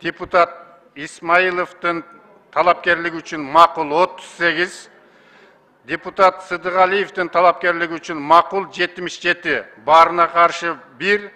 депутат Исмаиловдун талапкерлиги үчүн макул 38, депутат Сыдыгалиевдин талапкерлиги үчүн макул 77, баарына каршы 1,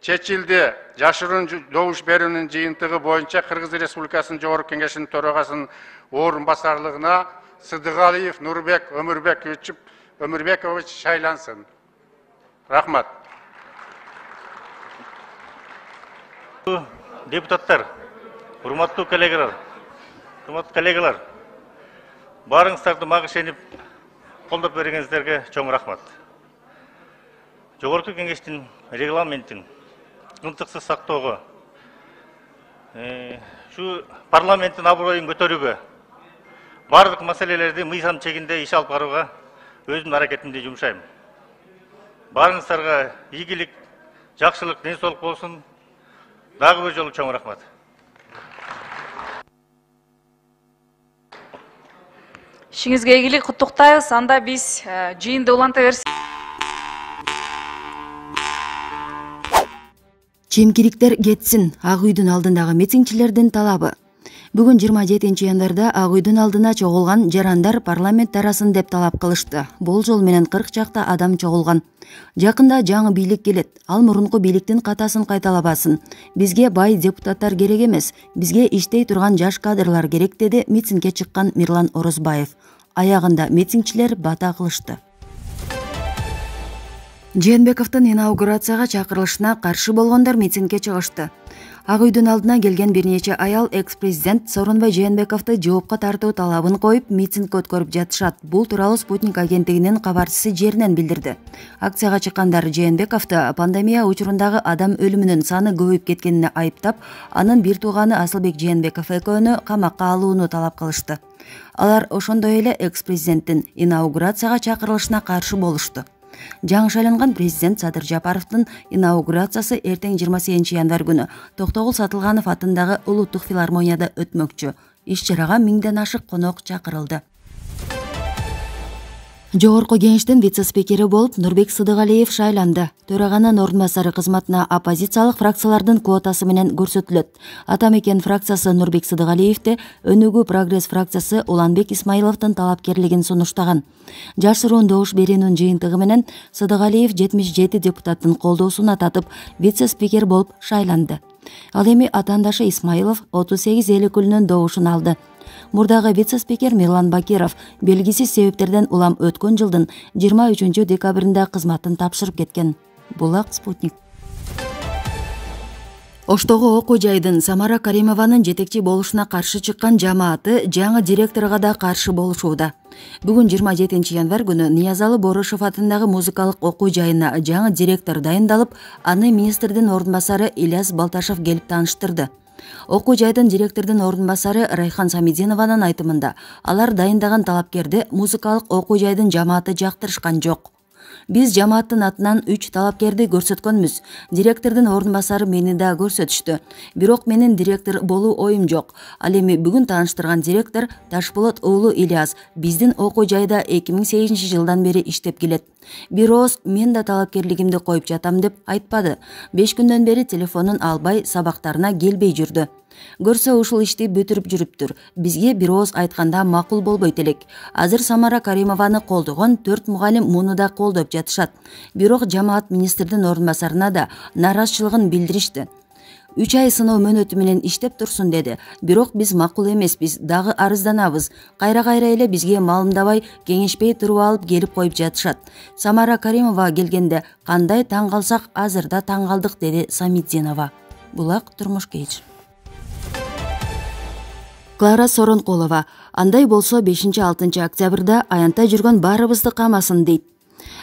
чечилди. Жашыруун добуш берүүнүн жыйынтыгы боюнча Кыргыз Республикасынын Жогорку Кеңешинин төрагасынын орун басарлыгына Сыдыгалиев Нурбек Өмүрбекович шайлансын. Рахмат. Депутаттар, урматтуу коллегалар, баарыңыздарды мага ишенип колдоп бергениңиздерге чоң рахмат. Жогорку Кеңештин регламентин ынтыксыз сактоого, şu парламенттин аброюн көтөрүүгө, бардык маселелерди мыйзам чегинде иш алып барууга өзүмдүн аракетимди жумшайм. Баарыңыздарга ийгилик, жакшылык, ден соолук болсун. Дагы бир жолу чоң рахмат. Ишиңизге ийгилик, куттуктайбыз. Анда биз жыйынды уланта берсек. Чемкириктер кетсин, Ак үйдүн алдындагы митингчилердин талабы. Бүгүн 27 январда Ак үйдүн алдына чогулган жарандар парламент тарасын деп талап кылышты. Бул жол менен 40 чакта адам чогулган. Жакында жаңы бийлик келет. Ал мурунку бийликтин катасын кайталабасын. Бизге бай депутаттар керек эмес, бизге иштей турган жаш кадрлар керек, деди митингге чыккан Мирлан Орозбаев. Аягында митингчилер бата кылышты. Жээнбековдун инаугурацияга чакырылышына каршы болгондор митингге чыгышты. Ак үйдүн алдына келген бир нече аял экс-президент Сооронбай Жээнбековду жоопко тартуу талабын коюп митинг өткөрүп жатышат. Бул тууралуу Спутник агенттигинин кабарчысы жеринен билдирди. Акцияга чыккандар Жээнбековду пандемия учурундагы адам өлүмүнүн саны көбөйүп кеткенине айыптап, анын бир тууганы Асылбек Жээнбеков экөөнү камакка алууну талап кылышты. Алар ошондой эле экс-президенттин инаугурацияга чакырылышына каршы болушту. Жаңы шайланган президент Садыр Жапаровдун инаугурациясы эртең 28 январь күнү Токтогул Сатылганов атындагы Улуттук филармонияда өтмөкчү. Иш-чарага 1000ден ашык конок чакырылды. Жогорку Кеңештин вице-спикери болуп Нурбек Сыдыгалиев шайланды. Төраганын орун басары кызматына оппозициялык фракциялардын квотасы менен көрсөтүлөт. Атамекен фракциясы Нурбек Сыдыгалиевди, Өнүгүү Прогресс фракциясы Уланбек Исмаиловдун талапкерлигин сунуштаган. Жашыруун добуш берүүнүн жыйынтыгы менен Сыдыгалиев 77 депутаттын колдоосуна татып, вице-спикер болуп шайланды. Ал эми атаандашы Исмаилов 38 эл өкүлүнүн добушун алды. Мурдагы вице-спикер Мирлан Бакиров белгисиз себептерден улам өткөн жылдын 23 декабрында кызматын тапшырып кеткен. Булак Спутник. Оштогу окуу жайдын Самара Каримованын жетекчи болушуна каршы чыккан жамааты жаңы директорго да каршы болушууда. Бүгүн 27 январь күнү Ниязалы Борошов атындагы музыкалык окуу жайына жаңы директор дайындалып, аны министрдин орун басары Ильяс Балташев келип тааныштырды. Окуу жайдын директордун орун басары Райхан Самидинованын айтымында, алар дайындаган талапкерди музыкалык окуу жайдын жамааты жактырышкан жок. Биз жамааттын атынан 3 талапкерди көрсөткөнбүз. Директордун орун басары мени да көрсөтүштү. Бирок менин директор болуу оюм жок. Ал эми бүгүн тааныштырган директор Ташболот уулу Ильяс биздин окуу жайда 2008 жылдан бери иштеп келет. Бирөөз мен да талапкерлигимди коюп жатам деп айтпады. 5 күндөн бери телефонун албай, сабактарына келбей жүрдү. Көрсө ушул ишти бүтүрүп жүрүптүр. Бизге бир ооз айтканда макул болбойт элек. Азыр Самара Каримованы колдогон 4 мугалим муну да колдоп жатышат. Бирок жамаат министрдин орун басарына да нааразычылыгын билдиришти. 3 ай сыноо мөөнөтү менен иштеп турсун деди. Бирок биз макул эмеспиз, дагы арызданабыз. Кайра эле бизге маалымдабай, кеңешпей туруп алып келип коюп жатышат. Самара Каримова келгенде кандай таң калсак, азыр да таң калдык, деди Самидинова. Булак Турмуш Кейч. Клара Соронкулова. Андай болсо 5-6 октябрда аянтта жүргөн баарыбызды камасын, дейт.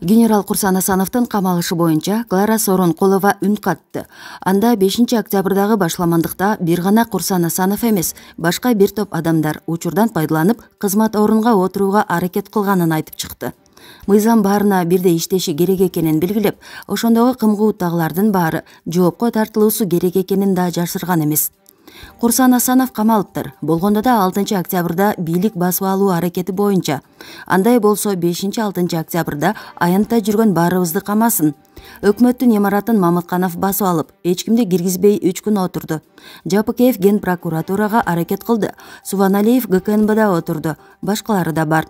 Генерал Курсан Асановдун камалышы боюнча Клара Соронкулова үн катты. Анда 5 октябрдагы башламандыкта бир гана Курсан Асанов эмес, башка бир топ адамдар учурдан пайдаланып кызмат орунга отурууга аракет кылганын айтып чыкты. Мыйзам баарына бирдей иштеши керек экенин белгилеп, ошондогу кымгууттагылардын баары жоопко тартылуусу керек экенин да жашырган эмес. Курсан Асанов камалыптыр. Болгондо да 6 октябрда бийлик басып алуу аракети боюнча. Андай болсо 5-6 октябрда аянтта жүргөн баарыбызды камасын. Өкмөттүн имаратын Мамытканов басып алып, эч кимди киргизбей 3 күн отурду. Жапыкеев Ген прокуратурага аракет кылды. Субаналиев ГКНБда отурду. Башкалары да бар.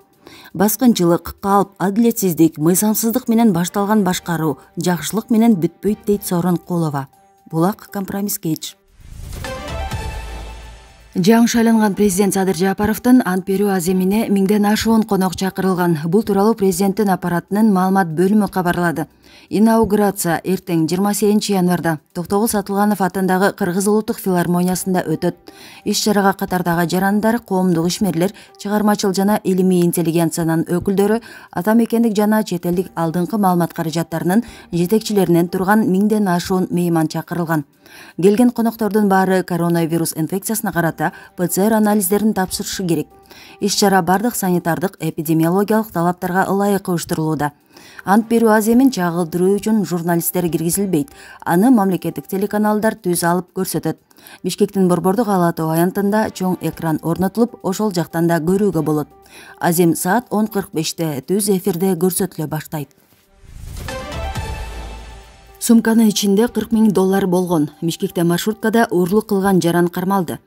Баскынчылык, калп, адилетсиздик, мыйзамсыздык менен башталган башкаруу жакшылык менен бүтпөйт дейт Сооронкулова. Булак компромисс кеч. Жаңы шайланган президент Садыр Жапаровдун ант берүү аземине 1000ден ашуун конок чакырылган. Бул тууралуу президенттин аппаратынын маалымат бөлүмү кабарлады. Инаугурация эртең 28 январда Токтогул Сатылганов атындагы Кыргыз улуттук филармониясында өтөт. Иш-чарага катардагы жарандар, коомдук ишмерлер, чыгармачыл жана илимий интеллигенциянын өкүлдөрү, ата мекендик жана чет элдик алдыңкы маалымат каражаттарынын жетекчилеринен турган 1000ден ашуун мейман чакырылган. Келген коноктордун баары коронавирус инфекциясына карата ПЦР анализдерин тапшырышы керек. Иш-чара бардык санитардык, эпидемиологиялык талаптарга ылайык уюштурулууда. Ант берүү аземин чагылдыруу үчүн журналисттер киргизилбейт. Аны мамлекеттик телеканалдар түз алып көрсөтөт. Бишкектин Борбордук Ала Тоо аянтында чоң экран орнотулуп, ошол жактан да көрүүгө болот. Азем саат 10:45 түз эфирде көрсөтүлө баштайт. Сумканын ичинде $40,000 болгон. Бишкекте маршруткада уурлук кылган жаран кармалды.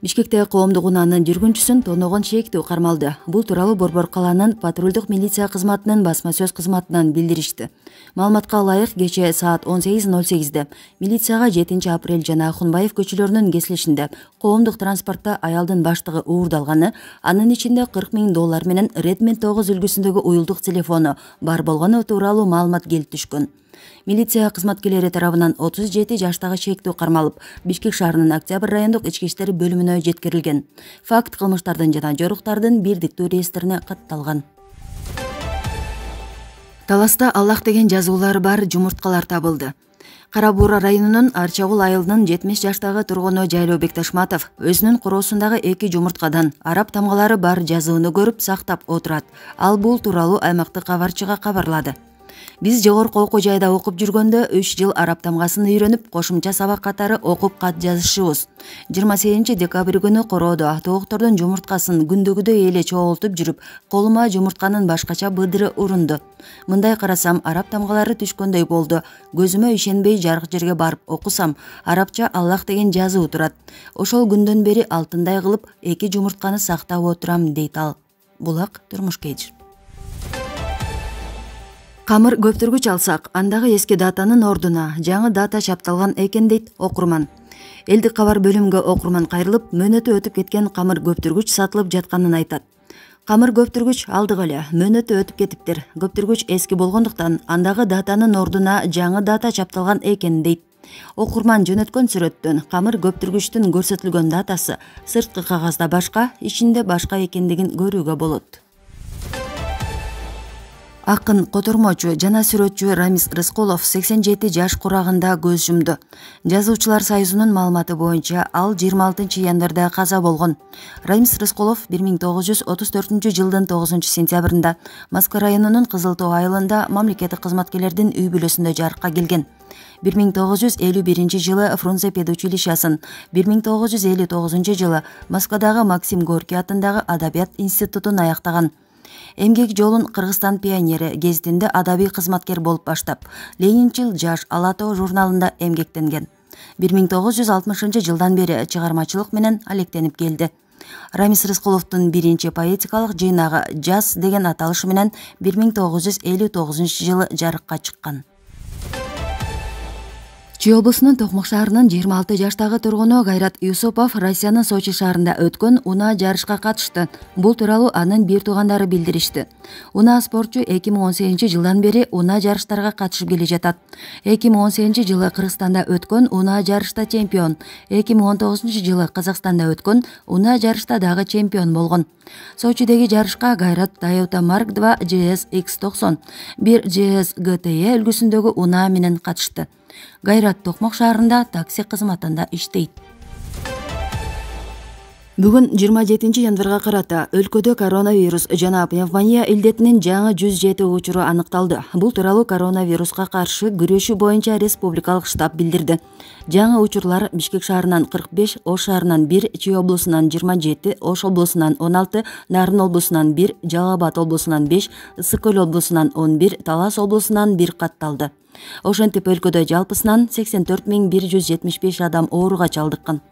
Бишкекте коомдук унаанын жүргүнчүсүн тоногон шектүү кармалды. Бул тууралуу Борбор каланын патрулдук милиция кызматынын басма сөз кызматынан билдиришти. Маалыматка ылайык кечээ саат 18:08 милицияга 7 апрель жана Ахунбаев көчөлөрүнүн кесилишинде коомдук транспортто аялдын баштыгы уурдалганы, анын ичинде $40,000 менен Redmi 9 үлгүсүндөгү уюлдук телефону бар болгону тууралуу маалымат келип түшкөн. Милиция кызматкерлери тарабынан 37 жаштагы шектүү кармалып, Бишкек шаарынын Октябрь райондук ички иштер бөлүмүнө жеткирилген. Факт кылмыштардын жана жоруктардын бирдиктүү реестрине катталган. Таласта Аллах деген жазуулары бар жумурткалар табылды. Кара Буура районунун Арчагул айылынын 70 жаштагы тургуну Жайлообек Ташматов өзүнүн короосундагы 2 жумурткадан араб тамгалары бар жазууну көрүп сактап отурат. Ал бул тууралуу аймактык кабарчыга кабарлады. Биз жогорку окуу жайда окуп жүргөндө 3 жыл араб тамгасын үйрөнүп, кошумча сабак катары окуп кат жазышыбыз. 28 декабрь күнү короодо тооктордун жумурткасын күндөгүдөй эле чогултуп жүрүп, колума жумуртканын башкача быдыры урунду. Мындай карасам, араб тамгалары түшкөндөй болду. Көзүмө ишенбей жарык жерге барып окусам, арабча Аллах деген жазуу турат. Ошол күндөн бери алтындай кылып 2 жумуртканы сактап отурам, дейт ал. Булак турмуш кеч. Камыр көптүргүч алсак, андагы эски датанын ордуна жаңы дата чапталган экен, дейт окурман. Элдик кабар бөлүмгө окурман кайрылып, мөөнөтү өтүп кеткен камыр көптүргүч сатылып жатканын айтат. Камыр көптүргүч алдык эле, мөөнөтү өтүп кетиптир. Көптүргүч эски болгондуктан андагы датанын ордуна жаңы дата чапталган экен, дейт. Окурман жөнөткөн сүрөттөн камыр көптүргүчтүн көрсөтүлгөн датасы сырткы кагазда башка, ичинде башка экендигин көрүүгө болот. Акын, котормочу жана сүрөтчү Рамис Рыскулов 87 жаш курагында көз жумду. Жазуучулар союзунун маалыматы боюнча ал 26 январда каза болгон. Рамис Рыскулов 1934 жылдын 9 сентябрында Москва районунун Кызыл Тоо айылында мамлекеттик кызматкерлердин үй бүлөсүндө жарыкка келген. 1951 жылы Фрунзе педучилищасын, 1959 жылы Москвадагы Максим Горький атындагы Адабият институтун аяктаган. Эмгек жолун Кыргызстан пионери гезитинде адабий кызматкер болуп баштап, Ленинчил жаш Ала Тоо журналында эмгектенген. 1960 жылдан бери чыгармачылык менен алектенип келди. Рамис Рыскуловдун биринчи поэтикалык жыйнагы «Жаз» деген аталышы менен 1959 жылы жарыкка чыккан. Чүй облусунун Токмок шаарынын 26 жаштагы тургуну Кайрат Юсупов Россиянын Сочи шаарында өткөн унаа жарышка катышты. Бул тууралуу анын бир туугандары билдиришти. Унаа спортчу 2018 жылдан бери унаа жарыштарга катышып келе жатат. 2018 жылы Кыргызстанда өткөн унаа жарышта чемпион, 2019 жылы Казакстанда өткөн унаа жарышта дагы чемпион болгон. Сочидеги жарышка Кайрат Toyota Mark II GS X90, 1 GS GTE үлгүсүндөгү унаа менен катышты. Кайрат Токмок шаарында такси кызматында иштейт. Бүгүн 27 январга карата өлкөдө коронавирус жана пневмония илдетинин жаңы 107 учуру аныкталды. Бул тууралуу коронавируска каршы күрөшүү боюнча республикалык штаб билдирди. Жаңы учурлар Бишкек шаарынан 45, Ош шаарынан 1, Чүй облусунан 27, Ош облусунан 16, Нарын облусунан 1, Жалал Абад облусунан 5, Ысык Көл облусунан 11, Талас облусунан 1 катталды. Ошентип өлкөдө жалпысынан 84.175 адам ооруга чалдыккан.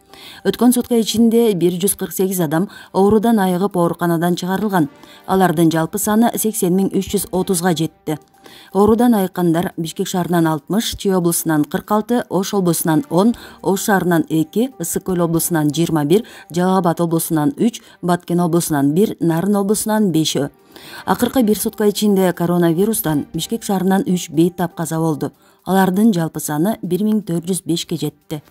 Өткөн сутка ичинде 148 адам оорудан айыгып ооруканадан чыгарылган. Алардын жалпы саны 80.330га жетти. Оорудан айыккандар Бишкек шаарынан 60, Чүй облусунан 46, Ош облусунан 10, Ош шаарынан 2, Ысык Көл облусунан 21, Жалал Абад облусунан 3, Баткен облусунан 1, Нарын облусунан 5. Акыркы бир сутка ичинде коронавирустан Бишкек шаарынан 3 бейтап каза болду. Алардын жалпы саны 1405ке жетти.